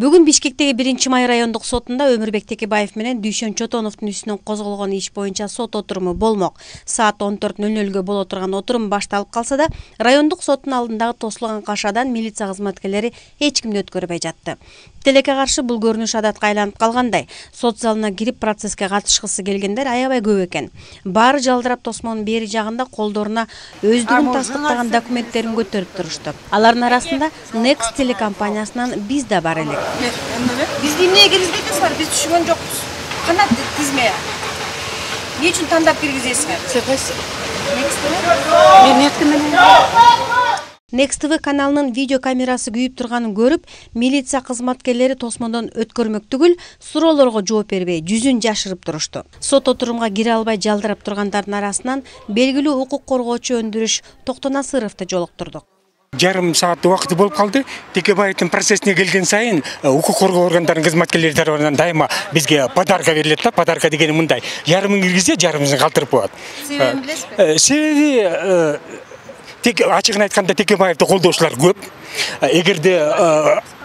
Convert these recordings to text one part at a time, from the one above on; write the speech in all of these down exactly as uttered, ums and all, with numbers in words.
Бүгүн Бишкектеги биринчи май райондук сотунда Өмүрбек Текебаев менен Дүйшөн Чотоновдун үстүнөн козголгон иш боюнча сот отуруму болмок. Саат он төрт нөл нөлгө боло турган отурум башталып калса да, райондук соттун алдындагы тосулган кашадан милиция кызматкерлери эч кимди өткөрбөй жатты. Тилекке каршы бул көрүнүш адатка айланып калгандай. Сот залына кирип процесске катышкысы келгендер аябай көп экен. Баары жалдырап тосмонун бери жагында колдоруна өздүгүн тастыктаган документтерин көтөрүп турушту. Алардын арасында Next телекомпаниясынан биз да бар элек. Бизди эмнеге киргизбейсиңер? Биз түшүнгөн жокпуз. Кана тизме? Эмне үчүн тандап киргизесиңер? Сен кайсы? Мен Next менен. Next T V каналынын видео камерасы күйүп турганын көрүп, милиция кызматкерлери тосмондон өткөрмөк түгүл, суроолорго жооп бербей, жүзүн жашырып турушту. Сот отурумга кире албай жалдырап тургандардын арасынан белгилүү укук коргоочу Өндүрүш Токтонасыровду жолуктурдук. Жарым саат убакыты болуп калды. Текебаевдин процессине келген сайын укук коргоо органдарынын кызматкерлери тарабынан дайыма бизге подарка берилет да. Подарка дегени мындай: жарымын киргизсе, жарымын калтырып коет. Себебин билесизби? Себеби тек ачыгын айтканда Текебаевди колдоочулар көп. Эгерде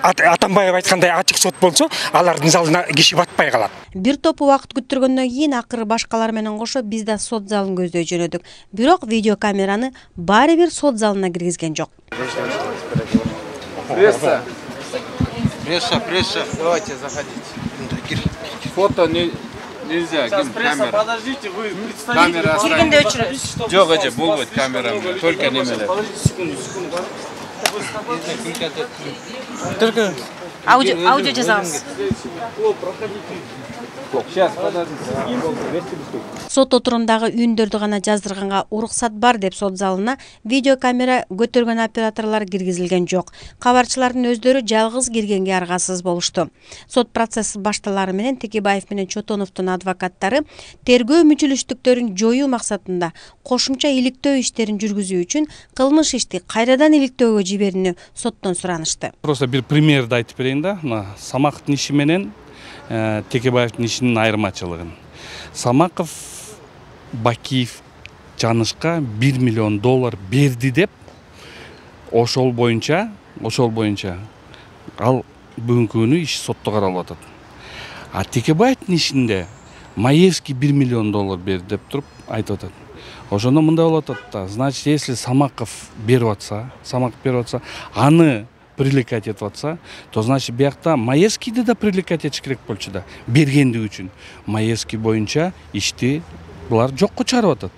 Атамбаев айткандай ачык сот болсо, алардын залына киши батпай калат. Бир топ убакыт күттүргөндөн кийин акыры башкалар менен кошо биз да сот залын көздөй жөнөдүк. Бирок видеокамераны баары бир сот залына киргизген жок. Пресса. Пресса, пресса. Давайте заходите. Фото не нельзя. Сейчас пресса, подождите, вы представитель. Камера Киргенде өчүрөбүз. Жок, эже, болбойт камера. Только немелер. Подождите секунду, секунду. Только Аудио, аудио жазабыз. Сейчас, подождите. Сот отурумдагы үндөрдү гана жаздырганга уруксат бар деп сот залына видеокамера көтөргөн операторлор киргизилген жок. Кабарчылардын өздөрү жалгыз киргенге аргасыз болушту. Сот процесси башталары менен Текебаев менен Чотоновдун адвокаттары тергөө мүчүлүштүктөрүн жоюу максатында кошумча иликтөө иштерин жүргүзүү үчүн кылмыш ишти кайрадан иликтөөгө жиберүүнү соттон суранышты. Просто бир примерди айтып берейин да. Самактын иши менен Текебаевдин ишинин айырмачылыгын. Самаков Бакиев Жанышка бир миллион доллар берди деп ошол боюнча, ошол боюнча ал бүгүнкү күнү иш сотто каралып атат. А Текебаевдин ишинде Маевский бир миллион доллар берди деп туруп айтып атат. Ошондо мындай болуп атат да, значит, если Самаков берип атса, Самаков берип атса, аны привлекать этип атса, то значит биякта Маевскийди да привлекать этиш керек болчу да. Бергендиги үчүн Маевский боюнча ишти булар жокко чыгарып атат.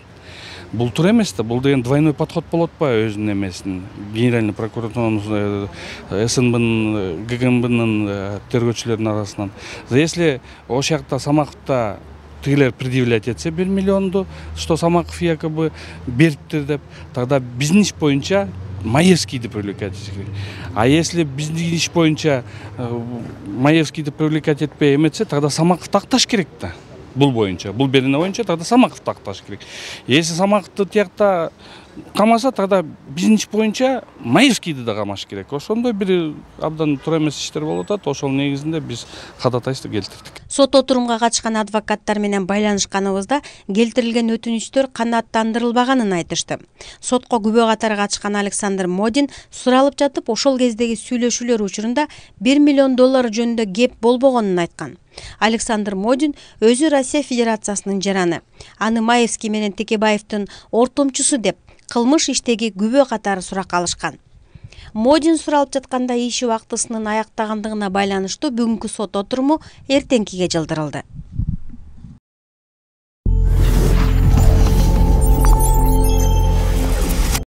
Бул туура эмес да, бул деген двойной подход болот па өзүнүн эмесин. Генеральный прокуратуранын, СНБнын, ГКМБнын тергөөчүлөрүнүн арасынан. Если ошол жакта Самаковда тигилер предъявлять этсе бир миллионду, что Самаков якобы бериптир деп, тогда биздин иш боюнча Маевскийди привлекать этиш керек. А если биздин иш боюнча Маевскийди привлекать этпей эметсе, тогда Самаков такташ керек да. Бул боюнча, бул берене боюнча, тогда Самаков такташ керек. Если Самаковду тиякта камаса, тогда биздин иш боюнча Маевскийди да камаш керек. Ошондой бир абдан туура эмес иштер болуп атат. Ошол негизинде биз ходатайство келтирдик. Сот отурумга катышкан адвокаттар менен байланышканыбызда келтирилген өтүнүчтөр канааттандырылбаганын айтышты. Сотко күбө катары катышкан Александр Модин суралып жатып, ошол кездеги сүйлөшүүлөр учурунда бир миллион доллар жөнүндө кеп болбогонун айткан. Александр Модин өзү Россия Федерациясынын жараны. Аны Маевский менен Текебаевдин ортомчусу деп кылмыш иштеги күбө катары суракка алышкан. Модин суралып жатканда иш убактысынын аяктагандыгына байланыштуу бүгүнкү сот отуруму эртеңкиге жылдырылды.